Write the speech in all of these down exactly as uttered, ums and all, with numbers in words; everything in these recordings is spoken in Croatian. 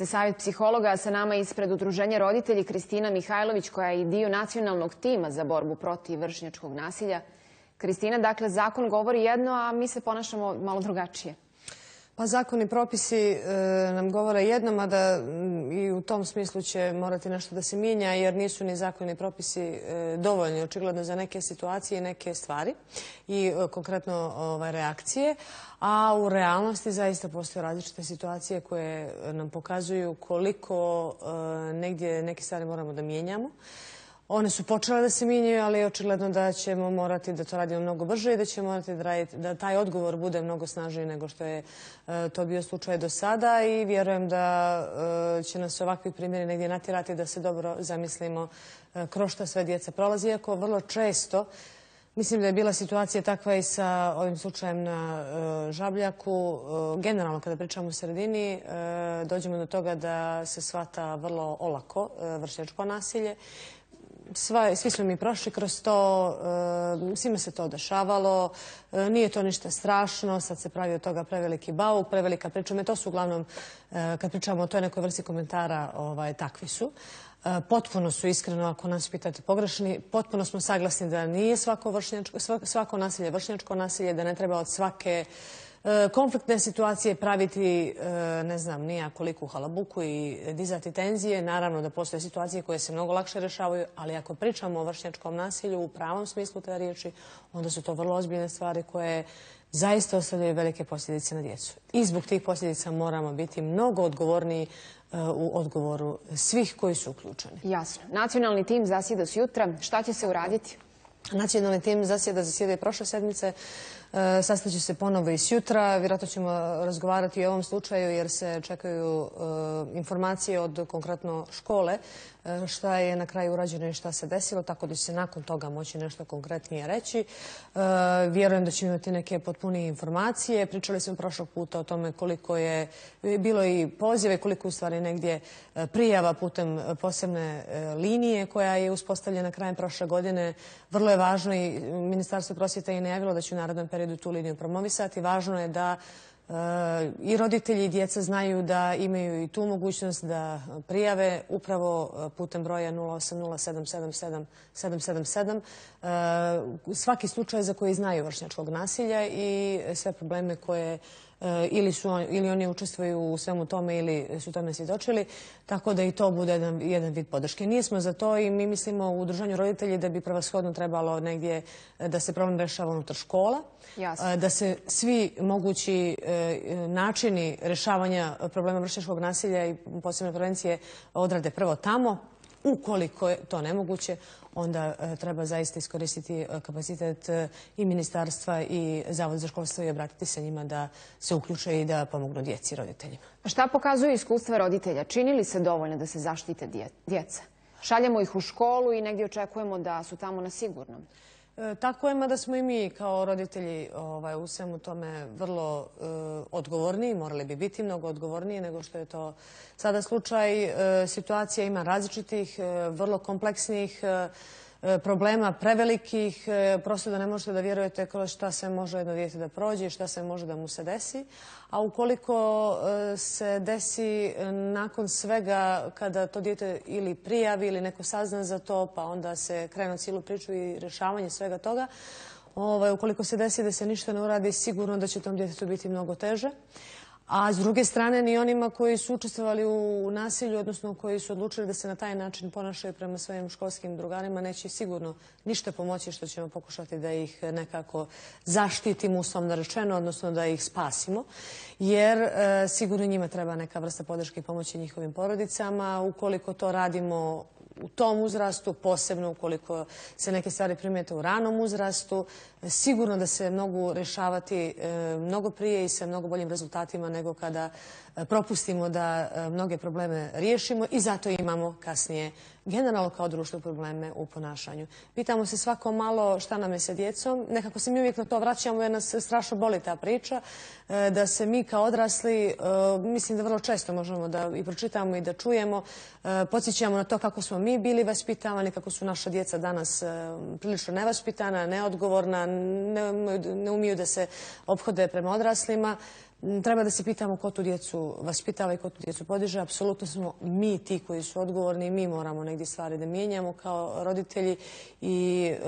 Savjet psihologa, sa nama ispred Udruženja roditelji Kristina Mihajlović, koja je i dio nacionalnog tima za borbu protiv vršnjačkog nasilja. Kristina, dakle, zakon govori jedno, a mi se ponašamo malo drugačije. Pa zakon i propisi nam govore jedno, mada i u tom smislu će morati nešto da se mijenja, jer nisu ni zakoni i propisi dovoljni, očigledno, za neke situacije i neke stvari i konkretno reakcije. A u realnosti zaista postoje različite situacije koje nam pokazuju koliko negdje neke stvari moramo da mijenjamo. One su počele da se mijenjaju, ali je očigledno da ćemo morati da to radimo mnogo brže i da ćemo morati da, raditi, da taj odgovor bude mnogo snažniji nego što je to bio slučaj do sada i vjerujem da će nas ovakvi primjeri negdje natjerati da se dobro zamislimo kroz šta sve djeca prolazi, iako vrlo često mislim da je bila situacija takva i sa ovim slučajem na Žabljaku. Generalno, kada pričamo u sredini, dođemo do toga da se shvata vrlo olako vršnjačko nasilje. Svi smo mi prošli kroz to, svima se to dešavalo, nije to ništa strašno, sad se pravi od toga preveliki bauk, prevelika priča. To su uglavnom, kad pričamo o toj nekoj vrsti komentara, takvi su. Potpuno su, iskreno, ako nas pitate, pogrešni. Potpuno smo saglasni da nije svako nasilje vršnjačko nasilje, da ne treba od svake konfliktne situacije praviti, ne znam, nija koliku halabuku i dizati tenzije. Naravno da postoje situacije koje se mnogo lakše rešavaju, ali ako pričamo o vršnjačkom nasilju u pravom smislu te riječi, onda su to vrlo ozbiljne stvari koje zaista ostavljaju velike posljedice na djecu. I zbog tih posljedica moramo biti mnogo odgovorniji u odgovoru svih koji su uključeni. Jasno. Nacionalni tim zasjeda sutra. Šta će se uraditi? Nacionalni tim zasjeda zasjeda i prošle sedmice. Sastaće se ponovo i sutra. Vjerojatno ćemo razgovarati i o ovom slučaju jer se čekaju informacije od konkretno škole šta je na kraju urađeno i šta se desilo, tako da će se nakon toga moći nešto konkretnije reći. Vjerujem da ćemo imati neke potpunije informacije. Pričali smo prošlog puta o tome koliko je bilo i pozive, koliko u stvari negdje prijava putem posebne linije koja je uspostavljena krajem prošle godine. Vrlo je važno i Ministarstvo prosvjete je najavilo da će u narednom periodu tu liniju promovisati. Važno je da i roditelji i djeca znaju da imaju i tu mogućnost da prijave upravo putem broja nula osam nula sedam sedam sedam sedam sedam sedam svaki slučaj za koji znaju vršnjačkog nasilja i sve probleme koje ili, su, ili oni učestvuju u svemu tome ili su tome svjedočili, tako da i to bude jedan, jedan vid podrške. Nismo za to i mi mislimo u Udruženju roditelji da bi prevashodno trebalo negdje da se problem rešava unutar škola, Jasno. Da se svi mogući načini rešavanja problema vršnjačkog nasilja i posebne prevencije odrade prvo tamo. Ukoliko je to nemoguće, onda treba zaista iskoristiti kapacitet i ministarstva i Zavod za školstvo i obratiti se njima da se uključe i da pomognu djeci i roditeljima. Šta pokazuju iskustva roditelja? Čini li se dovoljno da se zaštite djeca? Šaljemo ih u školu i negdje očekujemo da su tamo na sigurnom. Tako je, mada smo i mi kao roditelji u svemu tome vrlo odgovorniji, morali bi biti mnogo odgovorniji nego što je to sada slučaj. Situacija ima različitih, vrlo kompleksnih problema, prevelikih, prosto da ne možete da vjerujete kroz šta se može jedno dijete da prođe i šta se može da mu se desi. A ukoliko se desi nakon svega kada to dijete ili prijavi ili neko sazna za to, pa onda se krene cijelu priču i rješavanje svega toga, ukoliko se desi da se ništa ne uradi, sigurno da će tom djetetu biti mnogo teže. A s druge strane, ni onima koji su učestvovali u nasilju, odnosno koji su odlučili da se na taj način ponašaju prema svojim školskim drugarima, neće sigurno ništa pomoći što ćemo pokušati da ih nekako zaštitimo, uslovno rečeno, odnosno da ih spasimo. Jer sigurno njima treba neka vrsta podrške i pomoći njihovim porodicama. Ukoliko to radimo u tom uzrastu, posebno ukoliko se neke stvari primijete u ranom uzrastu, sigurno da se mogu rješavati mnogo prije i sa mnogo boljim rezultatima nego kada propustimo da mnoge probleme riješimo i zato imamo kasnije generalno kao društvo probleme u ponašanju. Pitamo se svako malo šta nam je sa djecom. Nekako se mi uvijek na to vraćamo jer nas strašno boli ta priča. Da se mi kao odrasli, mislim da vrlo često možemo da i pročitamo i da čujemo, podsjećamo na to kako smo mi bili vaspitavani, kako su naša djeca danas prilično nevaspitana, neodgovorna, ne umiju da se ophode prema odraslima. treba da se pitamo ko tu djecu vaspitava i ko tu djecu podiže. Apsolutno smo mi ti koji su odgovorni i mi moramo negdje stvari da mijenjamo kao roditelji i e,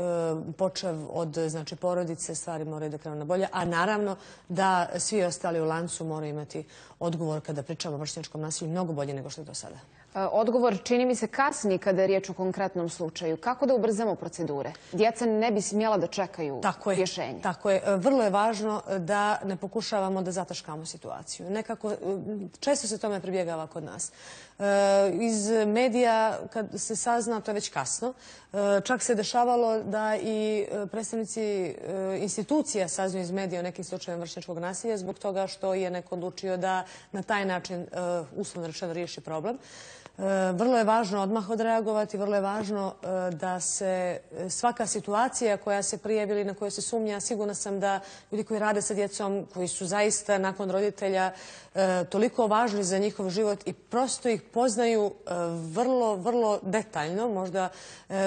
počev od znači, porodice stvari moraju da krenu na bolje. A naravno da svi ostali u lancu moraju imati odgovor kada pričamo o vršnjačkom nasilju mnogo bolje nego što je do sada. Odgovor čini mi se kasni kada je riječ o konkretnom slučaju. Kako da ubrzamo procedure? Djeca ne bi smjela da čekaju rješenje. Tako je. Vrlo je važno da ne pokušavamo da zataškamo situaciju. Nekako, često se tome pribjegava kod nas. Iz medija, kad se sazna, to je već kasno. Čak se dešavalo da i predstavnici institucija saznaju iz medija o nekim slučajevima vršnjačkog nasilja zbog toga što je neko odlučio da na taj način uslovno rečeno riješi problem. Vrlo je važno odmah odreagovati, vrlo je važno da se svaka situacija koja se prijavi ili na kojoj se sumnja, sigurna sam da ljudi koji rade sa djecom, koji su zaista nakon roditelja toliko važni za njihov život i prosto ih poznaju vrlo, vrlo detaljno, možda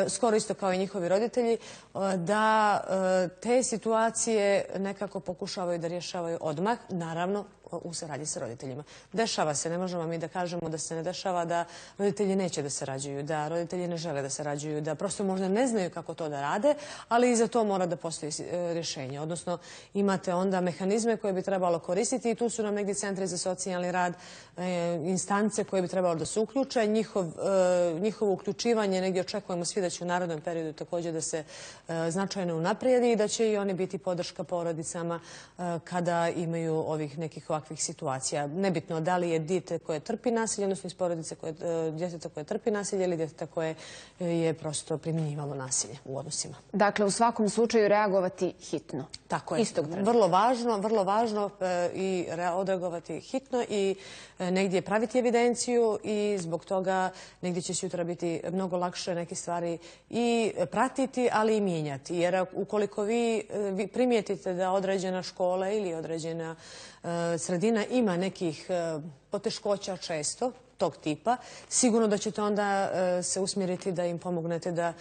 skoro isto kao i njihovi roditelji, da te situacije nekako pokušavaju da rješavaju odmah, naravno u saradnji sa roditeljima. Dešava se, ne možemo mi da kažemo da se ne dešava, da roditelji neće da sarađuju, da roditelji ne žele da sarađuju, da prosto možda ne znaju kako to da rade, ali i za to mora da postoji rješenje. Odnosno, imate onda mehanizme koje bi trebalo koristiti i tu su nam negdje centri za socijalni rad, instance koje bi trebalo da se uključe. Njihovo uključivanje negdje očekujemo svi da će u narednom periodu također da se značajno unaprijedi i da će i oni biti podrška porodicama kada imaju ovih nekih ovakvih situacija. Nebitno da li je dijete koje trpi nasilje, odnosno iz porodice djeteta koje trpi nasilje ili djeteta koje je prosto primjenjivalo nasilje u odnosima. Dakle, u svakom slučaju reagovati hitno. Tako je. Vrlo važno, vrlo važno i odreagovati hitno i negdje praviti evidenciju i zbog toga negdje će sutra biti mnogo lakše neke stvari i pratiti, ali i mijenjati. Jer ukoliko vi primijetite da određena škola ili određena sredina ima nekih poteškoća često, tog tipa, sigurno da ćete onda se usmjeriti da im pomognete da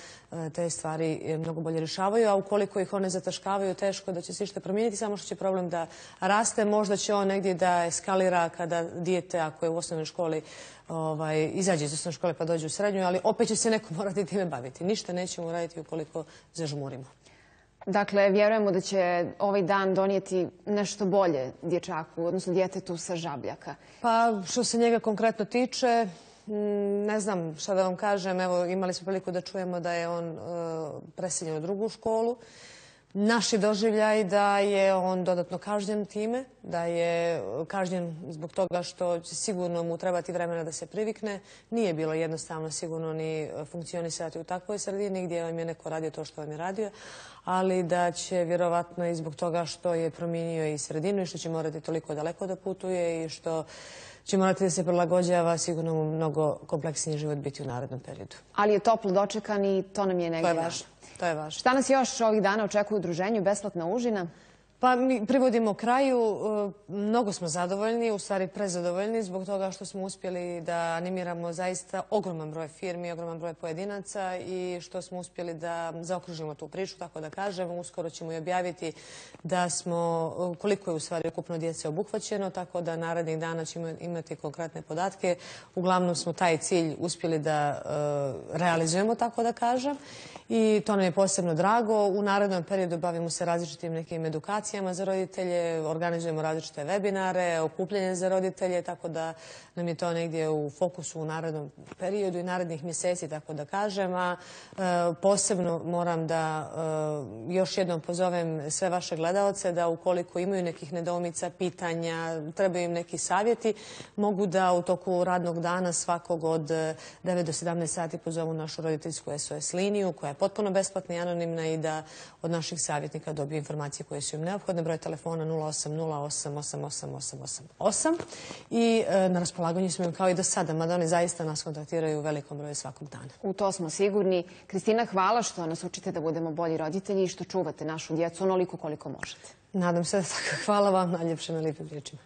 te stvari mnogo bolje rješavaju, a ukoliko ih one zataškavaju, teško da će se išta promijeniti, samo što će problem da raste, možda će on negdje da eskalira kada dijete, ako je u osnovnoj školi, izađe iz osnovne škole pa dođe u srednju, ali opet će se neko morati time baviti. Ništa nećemo raditi ukoliko zažmurimo. Dakle, vjerujemo da će ovaj dan donijeti nešto bolje dječaku, odnosno djetetu sa Žabljaka. Pa, što se njega konkretno tiče, ne znam šta da vam kažem. Evo, imali smo priliku da čujemo da je on preseljen u drugu školu. Naši doživljaj da je on dodatno kažnjen time, da je kažnjen zbog toga što će sigurno mu trebati vremena da se privikne. Nije bilo jednostavno sigurno ni funkcionisati u takvoj sredini gdje vam je neko radio to što vam je radio, ali da će vjerovatno i zbog toga što je promijenio i sredinu i što će morati toliko daleko da putuje i što će morati da se prilagođava, sigurno mu mnogo kompleksniji život biti u narednom periodu. Ali je toplo dočekan i to nam je negdje važno. To je važno. Šta nas još ovih dana očekuje u udruženju Besplatna užina? Pa mi privodimo kraju. Mnogo smo zadovoljni, u stvari prezadovoljni zbog toga što smo uspjeli da animiramo zaista ogroman broj firmi, ogroman broj pojedinaca i što smo uspjeli da zaokružimo tu priču, tako da kažem. Uskoro ćemo i objaviti da smo, koliko je u stvari ukupno djece obuhvaćeno, tako da narednih dana ćemo imati konkretne podatke. Uglavnom smo taj cilj uspjeli da realizujemo, tako da kažem. I to nam je posebno drago. U narednom periodu bavimo se različitim nekim edukacijama za roditelje, organizujemo različite webinare, okupljanje za roditelje, tako da nam je to negdje u fokusu u narednom periodu i narednih mjeseci, tako da kažem. A posebno moram da još jednom pozovem sve vaše gledaoce da ukoliko imaju nekih nedoumica, pitanja, trebaju im neki savjeti, mogu da u toku radnog dana svakog od devet do sedamnaest sati pozovu našu roditeljsku S O S liniju koja je potpuno besplatna i anonimna i da od naših savjetnika dobiju informacije koje su im neophodne. Broj telefona nula osam nula osam osam osam osam osam osam i na raspolaganju smo im kao i do sada, mada oni zaista nas kontaktiraju u velikom broju svakog dana. U to smo sigurni. Kristina, hvala što nas učite da budemo bolji roditelji i što čuvate našu djecu onoliko koliko možete. Nadam se da tako. Hvala vam najljepše na lijepim riječima.